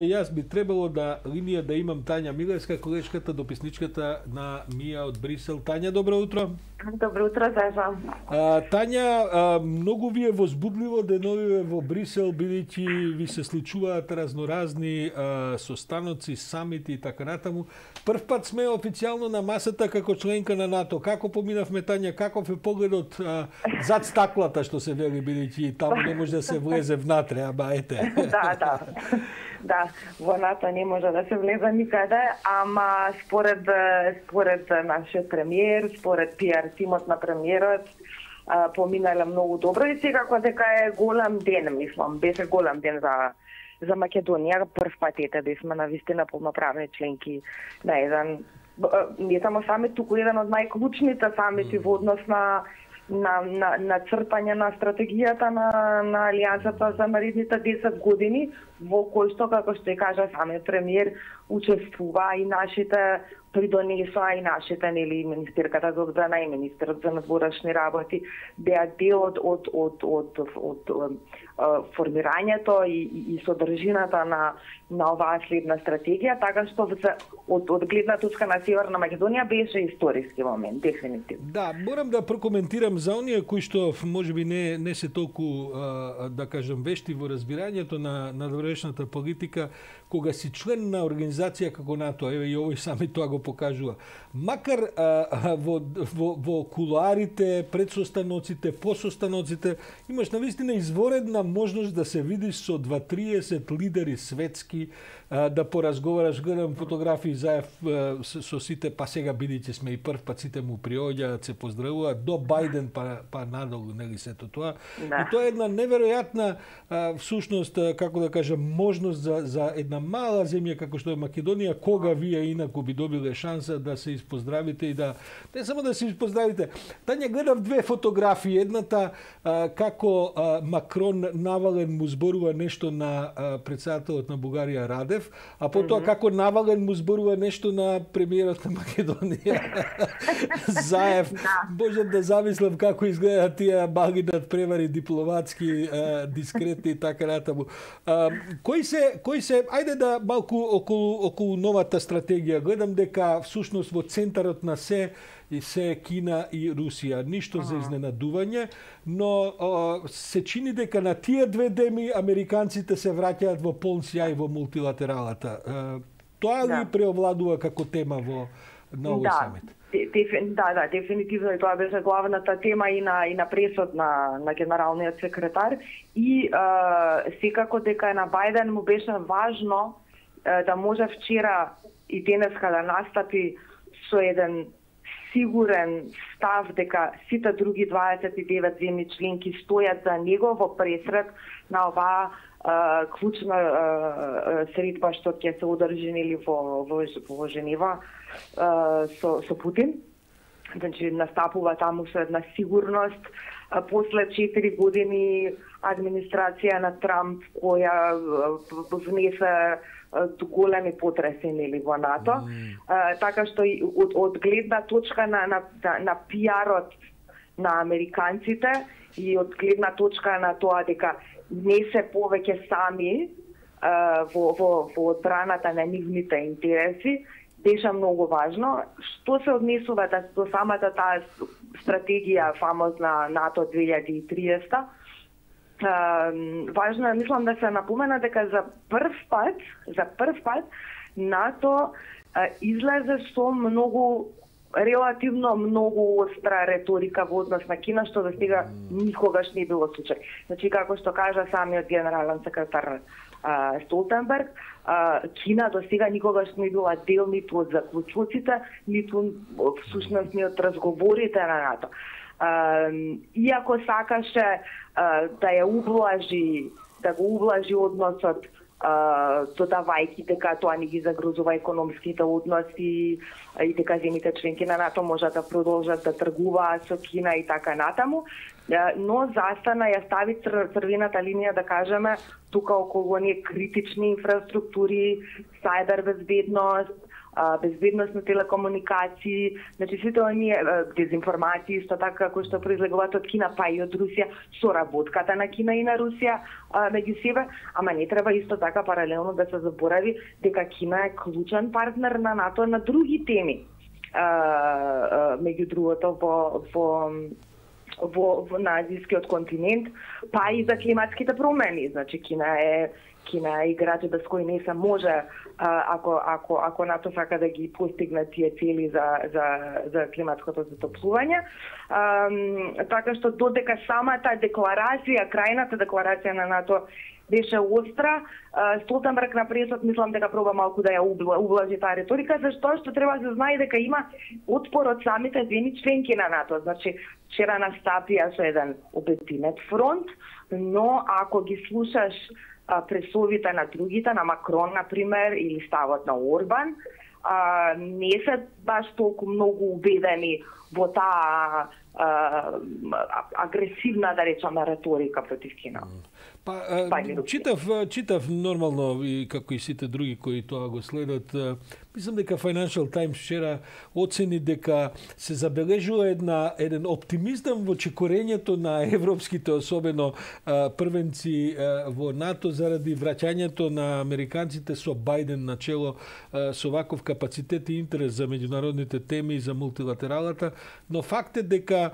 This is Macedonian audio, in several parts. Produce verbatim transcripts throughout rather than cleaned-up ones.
Јас би требало да линија да имам Тања Милевска, колешката, дописничката на Мија од Брисел. Тања, добро утро. Добро утро, Зажа. Тања, а, многу ви е возбудливо деновиве во Брисел, бидејќи ви се случуваат разноразни а, состаноци, самити и така натаму. Прв пат сме официјално на масата како членка на НАТО. Како поминавме, Тања, каков е погледот а, зад стаклата, што се вели, бидејќи таму не може да се влезе внатре, ама ете. Да, да. Да, во НАТО не може да се влезе никаде, ама според според нашиот премиер, според пиар тимот на премиерот, поминале многу добро и секако дека е голем ден, мислам, беше голем ден за за Македонија. Прв пат ете да сме навистина полноправни членки на еден, не само самит, туку еден од најклучните самити во однос на на на на цртање на стратегијата на на алијансата за наредните десет години, во кој што, како што ја кажа самиот премиер, учествува и нашите придонесоа и нашите, нели, министерката за одбрана и министерот за надворешни работи беа дел од од од од од, од формирањето и, и, и содржината на на оваа следна стратегија, така што од од гледна точка на Северна Македонија беше историски момент, дефинитивно. Да, морам да прокоментирам за оние кои што можеби не не се толку да кажам вешти во разбирањето на надворешната политика, кога си член на организација како НАТО, еве и овој сами тоа го покажува. Макар а, во, во, во кулуарите, пред состаноците, по состаноците, имаш навистина изворедна можност да се видиш со дваесет лидери светски, а, да поразговараш, гледам фотографии заев а, со, со сите, па сега бидејќи сме и прв пат сите му приоѓаат, се поздравуваат, до Бајден па, па надолу, нели сето тоа. Да. И тоа е една неверојатна а, всушност, а, како да кажам, можност за, за една мала земја како што е Македонија, кога вие инаку би добиле шанса да се испоздравите и да не само да се испоздравите. Тања, гледав две фотографии, едната а, како а, Макрон навален му зборува нешто на а, председателот на Бугарија Радев, а потоа mm -hmm. како навален му зборува нешто на премиерот на Македонија Заев. Може да замислам како изгледаат тие баги над превари дипломатски, а, дискретни и така натаму. А, кои се кои се ајде да малку околу околу новата стратегија. Гледам дека всушност во центарот на се и се Кина и Русија. Ништо uh -huh. за изненадување, но о, се чини дека на тие две деми американците се враќаат во полн сјај во мултилатералата. Е, тоа ли да. преовладува како тема во на овој да. самит? Да, да, дефинитивно и тоа беше главната тема и на и на пресот на на генералниот секретар и е, секако дека на Бајден му беше важно е, да може вчера и денеска да настапи со еден сигурен став дека сите други дваесет и девет земји членки стојат за него во пресред на оваа Uh, клучна uh, средба што ќе се одржи нели во во, во Женева uh, со со Путин. Значи настапува таму со една сигурност uh, после четири години администрација на Трамп која uh, внесе uh, големи потреси нели во НАТО. Mm. Uh, така што од, од гледна точка на на, на, на пиарот на американците и од гледна точка на тоа дека не се повеќе сами а, во, во, во одбраната на нивните интереси, беше многу важно. Што се однесува до самата таа стратегија фамозна НАТО две илјади и триесета, а, важно е, мислам, да се напомена дека за прв пат, за прв пат НАТО а, излезе со многу релативно многу остра реторика во однос на Кина, што до сега никогаш не било случај. Значи, како што кажа самиот генерален секретар а, Столтенберг, а, Кина до сега никогаш не била дел ниту од заклучоците, ниту всушност ни од разговорите на НАТО. А, иако сакаше а, да ја ублажи, да го ублажи односот, Uh, додавајќи дека тоа не ги загрозува економските односи и дека земјите членки на НАТО можат да продолжат да тргуваат со Кина и така натаму, uh, но застана ја стави цр црвената линија, да кажеме, тука околу оние критични инфраструктури, сајбер безбедност, безбедност на телекомуникации, значи сите оние дезинформации исто така кои што произлегуваат од Кина, па и од Русија, соработката на Кина и на Русија меѓу себе, ама не треба исто така паралелно да се заборави дека Кина е клучен партнер на НАТО на други теми. Меѓу другото во во во, во на азискиот континент, па и за климатските промени. Значи Кина е Кина е играч без кој не се може ако ако ако НАТО сака да ги постигне тие цели за за за климатското затоплување. Така што додека самата декларација, крајната декларација на НАТО беше остра, Столтенберг на пресот мислам дека проба малку да ја ублажи таа риторика, зашто што треба да се знае дека има отпор од самите земји членки на НАТО. Значи, вчера настапија со еден обединет фронт, но ако ги слушаш пресовите на другите, на Макрон, например, или ставот на Орбан, а, не се баш толку многу убедени во таа агресивна, да речеме, реторика против Кина. Па, читав, читав нормално и како и сите други кои тоа го следат. Мислам дека Financial Times вчера оцени дека се забележува една еден оптимизам во чекорењето на европските, особено првенци во НАТО заради враќањето на американците со Бајден на чело, со ваков капацитет и интерес за меѓународните теми и за мултилатералата, но факт е дека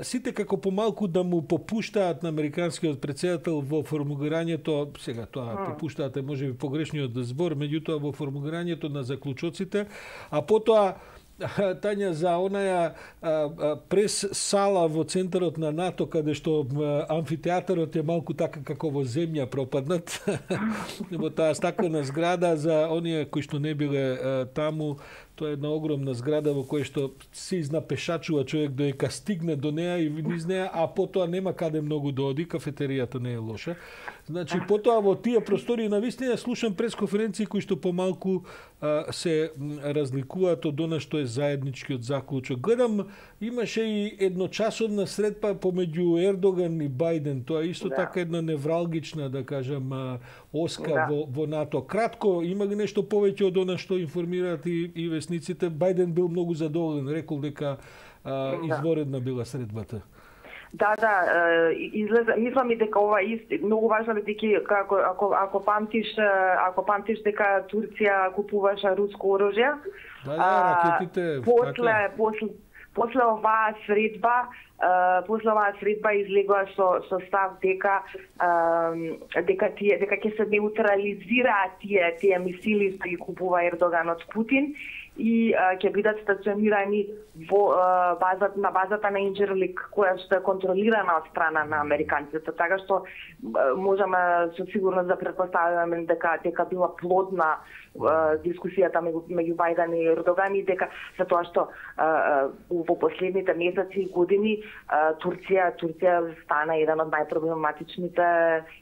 сите како помалку да му попуштаат на американскиот претседател во формулирањето, сега тоа попуштаат е можеби погрешниот збор, меѓутоа во формулирањето на заклучоците, а потоа Тања за онаја прес сала во центарот на НАТО каде што амфитеатарот е малку така како во земја пропаднат во таа стаклена зграда за оние кои што не биле таму. Тоа е една огромна зграда во која што се изнапешачува човек доека стигне до неа и низ неа, а потоа нема каде многу да оди, кафетеријата не е лоша. Значи, потоа во тие простори навистина слушам пресконференции кои што помалку а, се разликуваат од она што е заедничкиот заклучок. Гледам, имаше и едночасовна средба помеѓу Ердоган и Бајден. Тоа е исто да. така една невралгична, да кажам, оска да. во, во НАТО. Кратко, има ли нешто повеќе од она што информираат и, и весниците? Бајден бил многу задоволен, рекол дека а, изворедна била средбата. Да, да, излезе, мислам и дека ова ист многу важно бидејќи како ако ако памтиш ако памтиш дека Турција купуваше руско оружје. Да, да, ракетите. После после после оваа средба, после оваа средба излегува со со став дека дека тие дека ќе се неутрализираат тие тие мисили што ги купува Ердоган од Путин и ќе бидат стационирани во базата на базата на Инџерлик, која што е контролирана од страна на американците, така што можеме со сигурност да претпоставиме дека дека била плодна дискусијата меѓу меѓу Бајден и Ердоган и дека за тоа што во последните месеци и години Турција Турција стана еден од најпроблематичните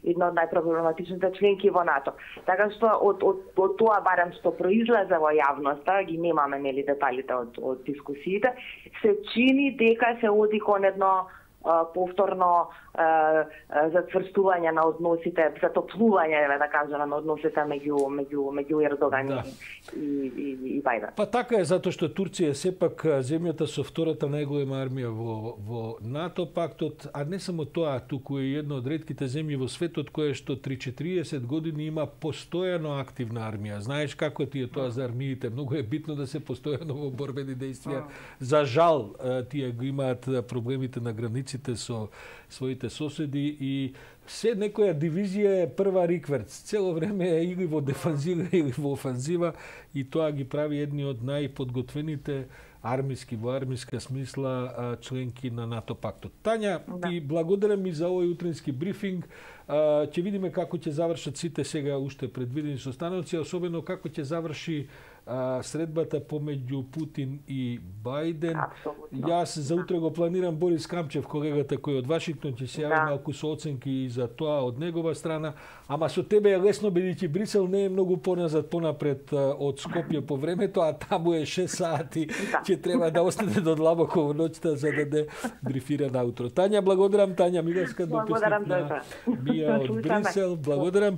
една од најпроблематичните членки во НАТО. Така што од од, од тоа барем што произлезе во јавноста, ги немаме нели деталите од од дискусиите, се чини дека се оди кон едно повторно зацврстување на односите, затоплување, да кажеме, на односите меѓу меѓу меѓу Ердоган да. и, и, и Бајден. Па така е, затоа што Турција е сепак земјата со втората најголема армија во во НАТО пактот, а не само тоа, туку е една од ретките земји во светот која што три-четириесет години има постојано активна армија. Знаеш како ти е тоа за армиите? Многу е битно да се постојано во борбени дејствија. За жал, тие го имаат проблемите на границите со своите соседи и се некоја дивизија е прва рикверц. Цело време е или во дефанзива или во офанзива и тоа ги прави едни од најподготвените армиски, во армиска смисла членки на НАТО пактот. Тања, да. ти благодарам и за овој утрински брифинг. Ќе видиме како ќе завршат сите сега уште предвидени состаноци, особено како ќе заврши а, средбата помеѓу Путин и Бајден. Абсолютно. Јас за утре го планирам Борис Камчев, колегата кој од Вашингтон, ќе се јави да. малку со оценки и за тоа од негова страна, ама со тебе е лесно бидејќи Брисел не е многу поназад понапред од Скопје по времето, а таму е шест сати, да. ќе треба да остане до длабоко во ноќта за да не брифира наутро. Тања, благодарам, Тања Милевска, дописник на Бија од Брисел, благодарам.